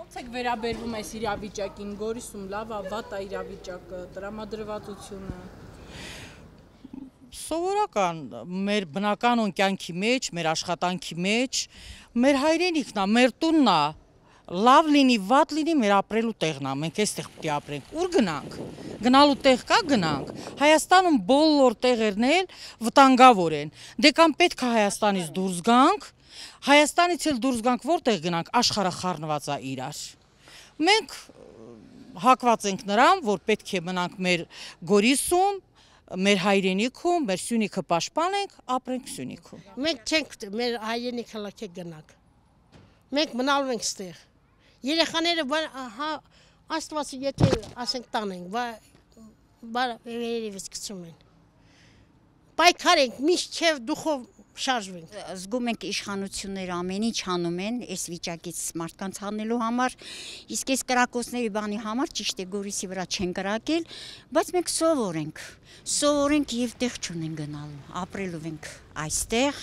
Ոնց եք վերաբերվում այս իրավիճակին, Գորիսում լավ է, վատ է իրավիճակը, տրամադրվածությունը։ Սովորական մեր բնական կյանքի մեջ, մեր աշխատանքի մեջ, մեր հայրենիքն է, մեր տունն է, լավ լինի, վատ լինի, մեր ապրելու տեղն է, մենք այստեղ պետք է ապրենք։ Ուր գնանք։ Գնալու տեղ կա, գնանք։ Հայաստանում բոլոր տեղերն էլ վտանգավոր են։ Դե կամ պետք է Հայաստանից դուրս գանք, Հայաստանից էլ դուրս գանք, որտեղ գնանք, աշխարհը խառնված է իրար։ Մենք հակված ենք նրան, որ պետք է մնանք մեր Գորիսում, մեր հայրենիքում, մեր Սյունիքը պաշտպանենք, ապրենք Սյունիքում։ Մենք չենք մեր հայրենիքը լքեք գնանք։ Մենք մնալու ենք ստեղ։ Երեխաները Աստվածը եթե ասենք տանենք, վերևից գցում են։ Պայքար ենք, միշտ չէ դուխով շարժվենք։ Զգում ենք իշխանությունները ամեն ինչ անում են այս վիճակից մարդկանց հանելու համար, իսկ այս կրակոցների բանի համար ճիշտ է Գորիսի վրա չեն կրակել, բայց մենք սովոր ենք եւ տեղ չունենք գնալու, ապրելու ենք այստեղ,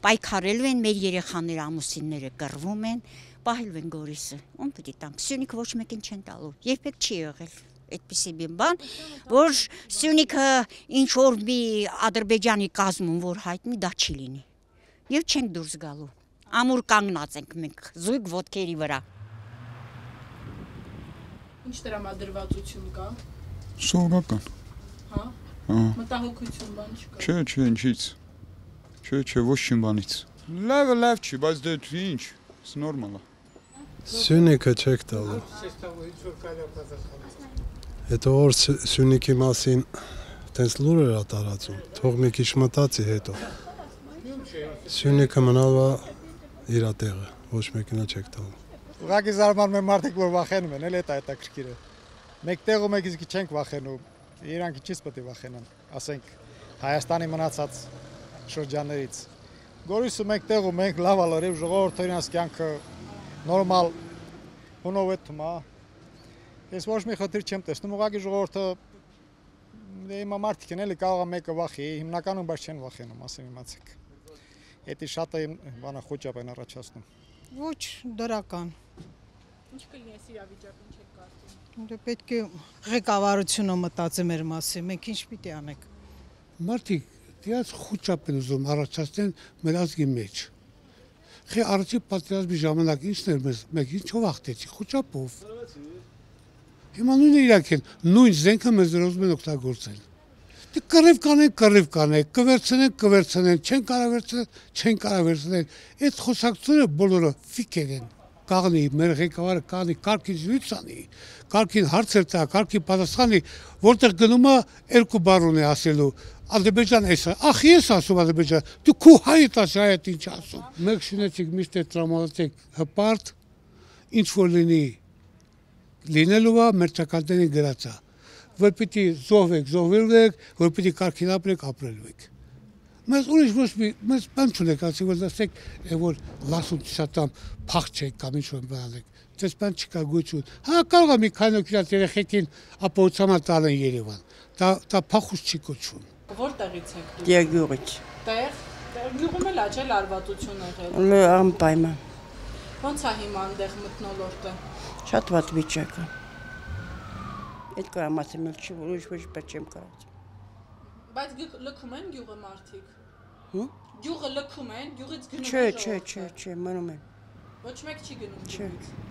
պայքարելու են մեր երեխաները, ամուսինները կռվում են, պահելու են Գորիսը, ում պետք է տանք, Սյունիքը ոչ մեկին չեն տալու, երբեք չի եղել այդպիսի բան, որ Սյունիքը ինչ որ մի Ադրբեջանի կազմում որ հայտնի դա չի լինի։ Եվ չենք դուրս գալու։ Ամուր կանգնած ենք մենք զույգ ոտքերի վրա։ Ինչ տրամադրվածություն կա։ Սովորական։ Հա։ Մտահոգություն բան չկա։ Չէ, ինչից։ Չէ, ոչ մի բանից։ Լավ չի, բայց դե ինչ, նորմալ է։ Սյունիքը չեք տալու։ Հետո որ Սյունիքի մասին տենց լուրեր է տարածում, թող մի քիչ մտածի հետո։ Սյունիքը մնալու իր տեղը, ոչ մեկին չեք տալու։ Ուղղակի զարմանում են մարդիկ, որ վախենում են, էլ դա հետաքրքիր է։ Մեկ տեղում եք իսկ չենք վախենում, իրանք ինչից պետք է վախենան, ասենք Հայաստանի մնացած շրջաններից։ Գորիսում մենք տեղում ենք, լավ է լրիվ ժողովուրդը իրենց կյանքը նորմալ հունով է թվում, Ես ոչ մի խնդիր չեմ տեսնում, ուղղակի ժողովուրդը հիմա մարդիկ են էլի կարող է մեկը վախի, հիմնականում բայց չեն վախենում, ասեմ իմացեք։ Էդի շատ է բանը խոճապ են առաջացնում։ Ոչ դրական։ Ինչ կլինի այս իրավիճակում չեք կարծում։ Դե պետք է ղեկավարությունը մտածի մեր մասին, մենք ինչ պիտի անենք։ Մարդիկ դիած խոճապ են ուզում առաջացնեն մեր ազգի մեջ։ Խի առաջի պատերազմի ժամանակ ինչն էր մեզ, մենք ինչով հաղթեցի, խոճապով։ Հիմա նույնը իրանք են, նույն զենքը մեզ ուզում են օգտագործել։ Դե կռիվ կանենք, կվերցնեն, չեն կարող վերցնել։ Այդ խոսակցությունը բոլորը ֆիկեր են։ Կաղնի, մեր ղեկավարը կաղնի, կարգին զրույց անի, կարգին հարցեր տա, կարգին պատասխանի, որտեղ գնում է երկու բառ ունի ասելու։ Ադրբեջան էս է, ախ ես ասում Ադրբեջան, դու քո հայդ ասի, հայդ ինչ ասում։ Մեկ շնեցիք միշտ է տրամադրեք հպարտ, ինչ որ լինելու է մեր ճակատներին գրած է, որ պիտի զոհվելու եք, որ պիտի կարգին ապրելու եք։ Մեզ ուրիշ ոչ մի, մեզ բան չունեք, ասի որ դասեք, որ լասում չսատամ փախչեք կամ ինչ որ բան եք, դες բան չկա գույություն։ Հա կարող է մի քանի օգնած երեխեքին ապահովության տալեն Երևան, դա փախուստ չի կոչվում։ Որտեղից եք դուք։ Տերգյուղից։ Տեղ գյուղում էլ աճել արվատություն եղել։ Անպայման։ Ոնց է հիմա այնտեղ մթնոլորտը։ Շատ վատ վիճակ է։ Այդ կամասեմ էլ չի, ուրիշ ոչ բեր չեմ կարած։ Բայց լքում են գյուղը մարդիկ։ Գյուղը լքում են, գյուղից գնում են։ Չէ, մնում են։ Ոչ մեկ չի գնում գյուղից։